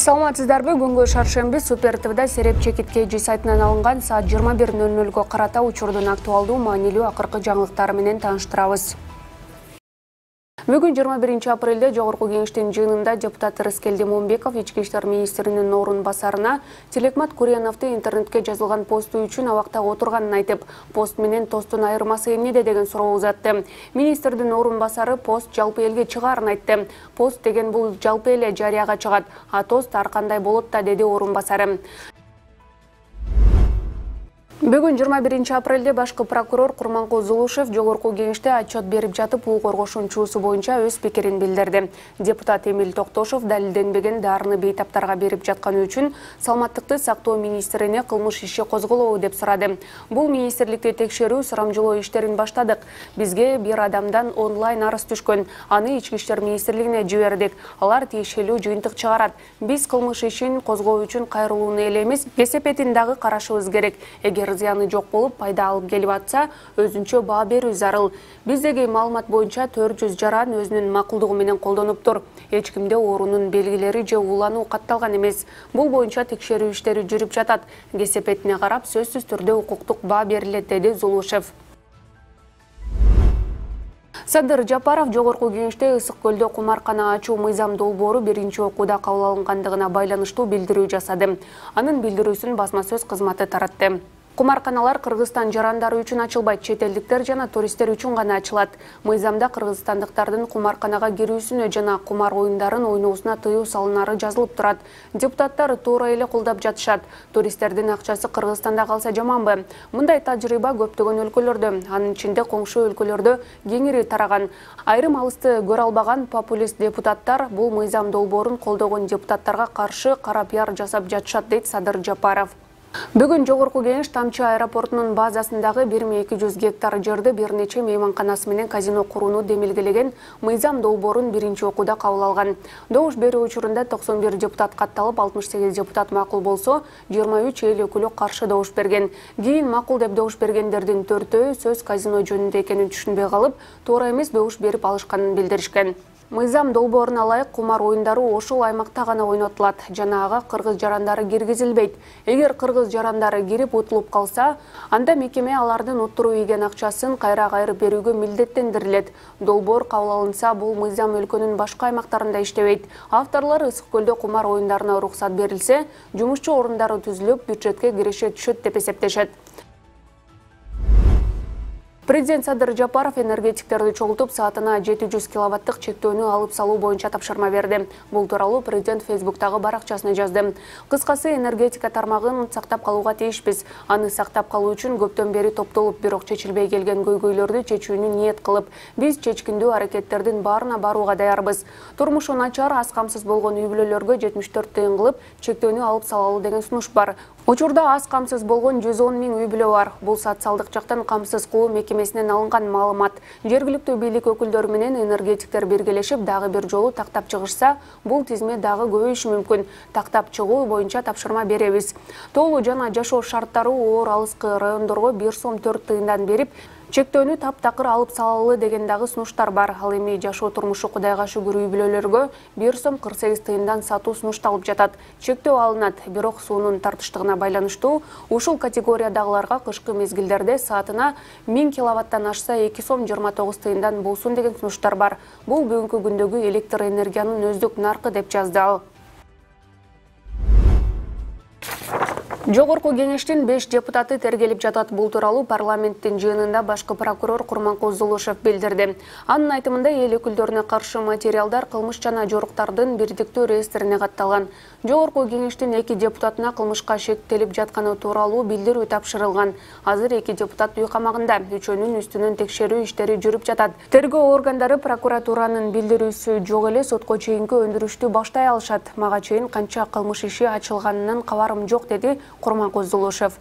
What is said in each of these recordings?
Саламатсыздарбы, бүгүнкү шаршемби Супер ТВда Сереп Чекиткейжи сайтынан алынган саат 21:00 карата учурдун актуалдуу маанилүү акыркы жаңылыктары менен тааныштырабыз. Бүгүн 21 апрелде Жогорку кеңештин жыйынында депутат Рыскелди Момбеков ички иштер министринин орун басарына Телекмат Курьяновду интернетке жазылган посту үчүн абакта отурганын айтып, пост менен тосттун айырмасы эмнеде деген суроо узатты. Министрдин орун басары пост жалпы элге чыгаарын айтты. Пост деген бул жалпы эле жарыяга чыгат, а тост ар кандай болот да, деди орун басары. Бүгүн 21 апрелде башкы прокурор Курманкул Зулушев Жогорку кеңеште отчет берип жатып, укук коргоошунун чуусу боюнча өз пикирин билдирди. Депутат Эмил Токтошов далилденбеген дарыны бейтаптарга берип жатканы үчүн саламаттыкты сактоо министрине кылмыш иши козголобу деп сурады. Бул министрликти текшерүү, сурамжылоо иштерин баштадык. Бизге бир адамдан онлайн арыз түшкөн. Аны ички иштер министрлигине жибердик. Алар тиешелүү жыйынтык чыгарат. Биз кылмыш ишин козгоо үчүн кайрылууну эле эмес, кесепетин дагы карашыбыз керек. Эгер зыяны жок болуп, пайда алып келип атса, өзүнчө баа берүү зарыл. Биздеги маалымат боюнча 400 жаран өзүнүн макулдугу менен колдонуптур. Эч кимде оорунун белгилери же уулануу катталган эмес. Бул боюнча текшерүү иштери жүрүп жатат. Кесепетине карап, сөзсүз түрдө укуктук баа берилет, деди Зулушев. Садыр Жапаров Жогорку кеңеште Ысык көлдө кумаркана ачуу мыйзам долбоору биринчи окууда кабыл алынгандыгына байланыштуу билдирүү жасады. Анын билдирүүсүн басма сөз кызматы таратты. Кумарканалар Кыргызстан жарандары үчүн ачылбайт, чет элдиктер жана туристтер үчүн гана ачылат. Мыйзамда кыргызстандыктардын кумарканага кирүүсүнө жана кумар оюндарын ойноосуна тыюу салынары жазылып турат. Депутаттар туура эле колдоп жатышат. Туристтердин акчасы Кыргызстанда калса жаманбы? Мындай тажрыйба көптөгөн өлкөлөрдө, анын ичинде коңшу өлкөлөрдө кеңири тараган. Айрым алысты көрө албаган популист депутаттар бул мыйзам долбоорун колдогон депутаттарга каршы кара пиар жасап жатышат, дейт Садыр Жапаров. Бүгүн Жогорку кеңеш Тамчы аэропортунун базасындагы 1200 гектар жерди бир нече мейманканасы менен казино курууну демилгелеген мыйзам долбоорун биринчи окууда кабыл алган. Добуш берүү учурунда 91 депутат катталып, 68 депутат макул болсо, 23 эл өкүлү каршы добуш берген. Кийин макул деп добуш бергендердин 4-өө сөз казино жөнүндө экенин түшүнбөй калып, туура эмес добуш берип алышканын билдиришкен. Мыйзам долбооруна ылайык кумар оюндары ошол аймакта гана ойнотулат жана ага кыргыз жарандары киргизилбейт. Эгер кыргыз жарандары кирип утулуп калса, анда мекеме алардын уттуруу ийген акчасын кайра кайрып берүүгө милдеттендирилет. Долбоор кабыл алынса, бул мыйзам өлкөнүн башка аймактарында иштебейт. Авторлор Ысык көлдө кумар оюндарына уруксат берилсе, жумушчу орундары түзүлүп, бюджетке киреше түшөт деп эсептешет. Президент Садыр Жапаров энергетиктерди чогултуп, саатына 700 киловаттык чектөөнү алып салуу боюнча тапшырма берди. Бул тууралуу президент Фейсбуктагы баракчасына жазды. Кыскасы, энергетика тармагын сактап калууга тийишпиз. Аны сактап калуу үчүн көптөн бери топтолуп, бирок чечилбей келген көйгөйлөрдү чечүүнү ниет кылып, биз чечкиндүү аракеттердин баарына барууга даярбыз. Турмушу начар, аз камсыз болгон үй-бүлөлөргө 74 тыйын кылып, чектөөнү алып салалы деген сунуш бар. Учурда аз камсыз болгон 110 000 үй-бүлө бар. Бул социалдык жактан камсыз кылуу мекемесинен алынган маалымат. Жергиликтүү бийлик өкүлдөрү менен энергетиктер биргелешип, дагы бир жолу тактап чыгышса, бул тизме дагы көбөйүшү мүмкүн. Тактап чыгуу боюнча тапшырма беребиз. Тоолуу жана жашоо шарттары оор алыскы райондорго 1 сом 4 тыйындан берип, чектөөнү таптакыр алып салалы деген дагы сунуштар бар. Ал эми жашоо турмушу Кудайга шүгүр үй-бүлөлөргө 1 сом 48 тыйындан сатуу сунушталып жатат. Чектөө алынат, бирок суунун тартыштыгына байланыштуу ушул категориядагыларга кышкы мезгилдерде саатына 1000 киловаттан ашса 2 сом 29 тыйындан болсун деген сунуштар бар. Бул бүгүнкү күндөгү электр энергиянын өздүк наркы деп жазды ал. Жогорку кеңештин 5 депутаты тергелип жатат. Бул тууралуу парламенттин жыйынында башкы прокурор Курманкул Зулушев билдирди. Анын айтымында, эл өкүлдөрүнө каршы материалдар кылмыш жана жоруктардын бирдиктүү реестрине катталган. Жогорку кеңештин 2 депутатына кылмышка шектелип жатканы тууралуу билдирүү тапшырылган. Азыр 2 депутат үй камагында, үчөөнүн үстүнөн текшерүү иштери жүрүп жатат. Тергөө органдары прокуратуранын билдирүүсү жок эле сотко чейинки өндүрүштү баштай алышат. Мага чейин канча кылмыш иши ачылганынан кабарым жок, деди Курманкул Зулушев.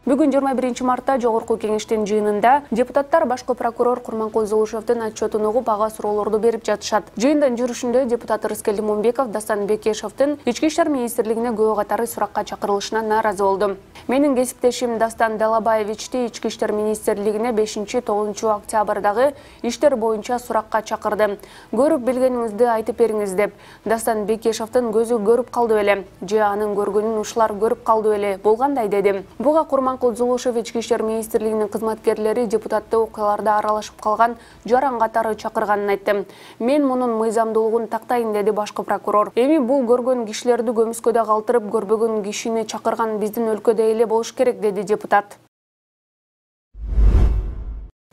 Бүгүн 21 мартта Жогорку кеңештин жыйынында депутаттар башкы прокурор Курманкул Зулушевдин отчетун угуп ага суроолорду берип жатышат. Жыйындын жүрүшүндө депутат Рыскел Лимонбеков Дастан Бекешевдин Ички иштер министрлигине күбө катары суракка чакырылышына нааразы болду. Менин кесиптешим Дастан Далабаевичти Ички иштер министрлигине 5-9 октябрдагы иштер боюнча суракка чакырды. Көрүп билгениңизди айтып бериңиз деп. Дастан Бекешевдин көзү көрүп калды беле, же анын көргөнүн ушулар көрүп калды беле болгандай деди. Буга Курманкул Зулушев Ички иштер министрлигинин кызматкерлери депутаттуу окуяларда аралашып калган жаран катары чакырганын айтты. Мен мунун мыйзамдуулугун тактайын деди башкы прокурор. Эми бул көргөн кишилерди көмүскөдө калтырып, көрбөгөн кишини чакырган биздин өлкөдө эле болуш керек деди депутат.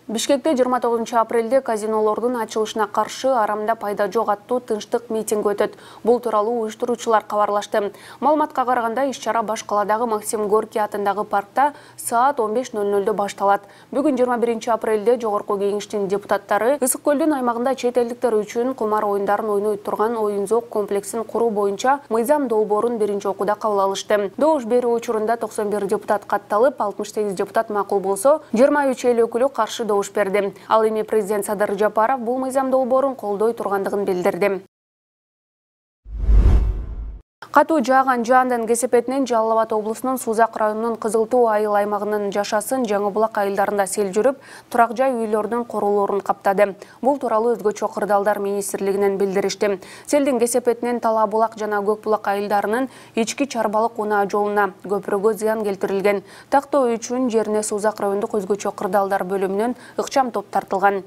Бишкекте 29 апрелде казинолордун ачылышына каршы арамда пайда жок аттуу тынчтык митинг өтөт. Бул тууралуу уюштуруучулар кабарлашты. Маалыматка караганда иш-чара Баш каладагы Максим Горький атындагы паркта саат 15:00 башталат. Бүгүн 21 апрелде Жогорку кеңештин депутаттары Ысык көлдүн аймагында чет элдиктер үчүн кумар оюндарын ойной турган оюн-зоок комплексин куруу боюнча мыйзам долбоорун биринчи окууда кабыл алышты. Добуш берүү учурунда 91 депутат катталып, 68 депутат макул болсо, 23 эл өкүлү каршы добуш берди. Ал эми президент Садыр Жапаров бул мыйзам долбоорун колдой тургандыгын билдирди. Катуу жааган жаандын кесепетинен Жалал Абад облусунун Сузак районунун Кызылтуу айыл аймагынын жашасын Жаңы Булак айылдарында сел жүрүп, турак жай үйлөрдүн корулоорун каптады. Бул тууралуу өзгөчө кырдаалдар министрлигинен билдиришти. Селдин кесепетинен Тала Булак жана Көк Булак айылдарынын ички чарбалык унаа жолуна көпүрөгө зыян келтирилген. Тактоо үчүн жерине Сузак райондук өзгөчө кырдаалдар бөлүмүнөн ыкчам топ тартылган.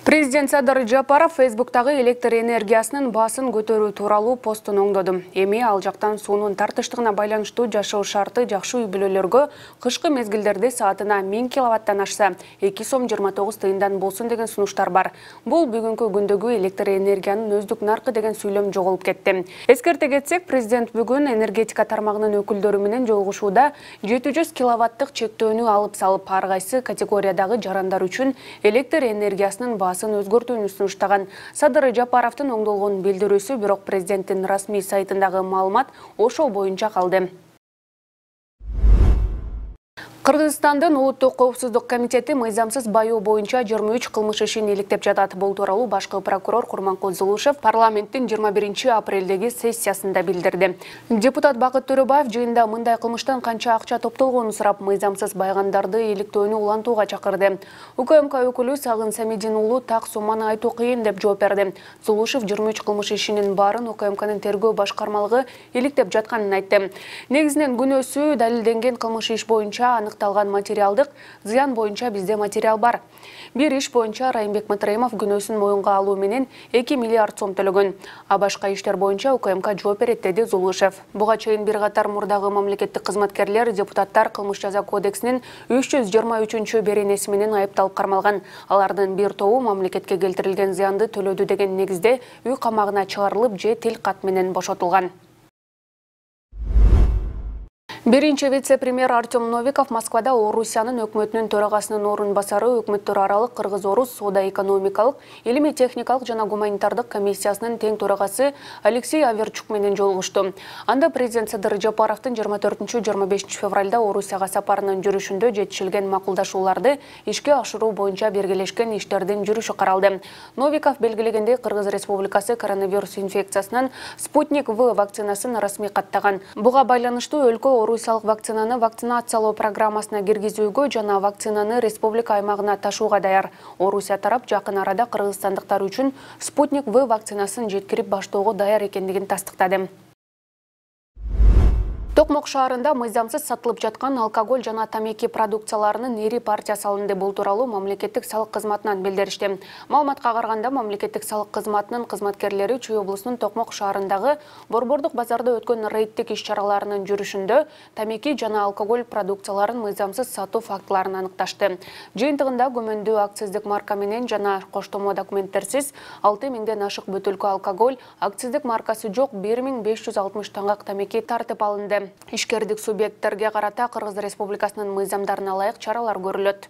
Президент Садыр Жапаров Фейсбуктагы электр энергиясынын баасын көтөрүү тууралуу постун оңдоду. Эми ал жактан суунун тартыштыгына байланыштуу жашоо шарты жакшы үй бүлөлөргө кышкы мезгилдерде саатына 1000 киловаттан ашса 2 сом 29 тыйындан болсун деген сунуштар бар. Бул бүгүнкү күндөгү электр энергиянын өздүк наркы деген сүйлөм жоголуп кетти. Эскерте кетсек, президент бүгүн энергетика тармагынын өкүлдөрү менен жолугушууда 700 киловаттык чектөөнү алып салып, ар кайсы категориядагы жарандар үчүн электр энергиясынын баасын өзгөртүүнү сунуштаган. Садыр Жапаровдун оңдолгон билдирүүсү бирок президенттин расмий сайтындагы маалымат ошол боюнча калды. Кыргызстандын Улуттук коопсуздук комитети мыйзамсыз бауу боюнча 23 кылмыш ишин иликтеп жатат. Бул тууралуу башкы прокурор Курманкул Зулушев парламенттин 21 апрелдеги сессиясында билдирди. Депутат Бакыт Төрөбаев жыйында мындай кылмыштан канча акча топтолгонун сурап, мыйзамсыз байгандарды иликтөөнү улантууга чакырды. УКМК өкүлү Сагын Самидин уулу так сумманы айтуу кыйын деп жооп берди. Зулушев 23 кылмыш ишинин баарын УКМКнын тергөө башкармалыгы иликтеп жатканын айтты. Негизинен күнөөсү далилденген кылмыш иш боюнча аныкталган материалдык зыян боюнча бизде материал бар. Бир иш боюнча Райымбек Матраимов күнөөсүн моюнга алуу менен 2 миллиард сом төлөгөн. А башка иштер боюнча УКМК жооп берет деди Зулушев. Буга чейин бир катар мурдагы мамлекеттик кызматкерлер депутаттар кылмыш жаза кодексинин 323 беренеси менен айыпталып кармалган. Алардын бир тобу мамлекетке келтирилген зыянды төлөдү деген негизде үй камагына чыгарылып же тил кат менен бошотулган. Биринчи вице-премьер Артем Новиков Москвада Орусиянын өкмөтүнүн төрагасынын орун басары өкмөттөр аралык Кыргыз-Орус соода-экономикалык, илимий-техникалык жана гуманитардык комиссиясынын тең төрагасы Алексей Аверчук менен жолугушту. Анда президент Садыр Жапаровдун 24-25 февралда Орусияга сапарынын жүрүшүндө жетишилген макулдашууларды ишке ашыруу боюнча бергелешкен иштердин жүрүшү каралды. Новиков белгилегендей, Кыргыз Республикасы коронавирус инфекциясынын Спутник В вакцинасын расмий каттаган. Буга байланыштуу өлкө Орусиялык вакцинаны вакцинациялоо программасына киргизүүгө жана вакцинаны республика аймагына ташууга даяр. Орусия тарап жакын арада кыргызстандыктар үчүн Спутник В вакцинасын жеткирип баштоого даяр экендигин тастыктады. Токмок шаарында мыйзамсыз сатылып жаткан алкоголь жана тамеки продукцияларынын ири партиясы алынды. Бул тууралуу мамлекеттик салык кызматынан билдиришти. Маалыматка караганда, мамлекеттик салык кызматынын кызматкерлери Чүй облусунун Токмок шаарындагы Борбордук базарда өткөн рейдтик иш-чараларынын жүрүшүндө тамеки жана алкоголь продукцияларын мыйзамсыз сатуу фактыларын аныкташты. Жыйынтыгында күмөндүү акциздик марка менен жана коштомо документтерсиз 6000ден ашык бөтөлкө алкоголь, акциздик маркасы жок 1560 таңак тамеки тартып алынды. Ишкердик субъекттерге карата Кыргыз Республикасынын мыйзамдарына ылайык чаралар көрүлөт.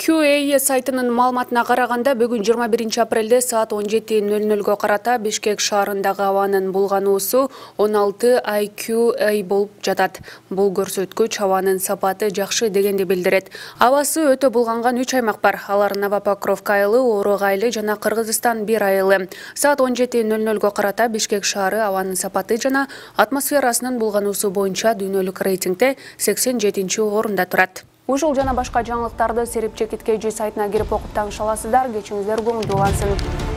QA сайтынын маалыматына караганда бүгүн 21 апрелде саат 17:00 карата Бишкек шаарындагы абанын булгануусу 16 IQA болуп жатат. Бул көрсөткүч абанын сапаты жакшы дегенди билдирет. Абасы өтө булганган 3 аймак бар. Алар Новопокровка айылы, Орог айылы жана Кыргызстан бир айылы. Саат 17:00 карата Бишкек шаары абанын сапаты жана атмосферасынын булгануусу боюнча дүйнөлүк рейтингде 87-орунда турат. Ушул жана башка жаңылыктарды Серипче Киткейжи сайтына кирип окуп таңыша аласыздар. Кечиңиздер көңүлдүү болсун.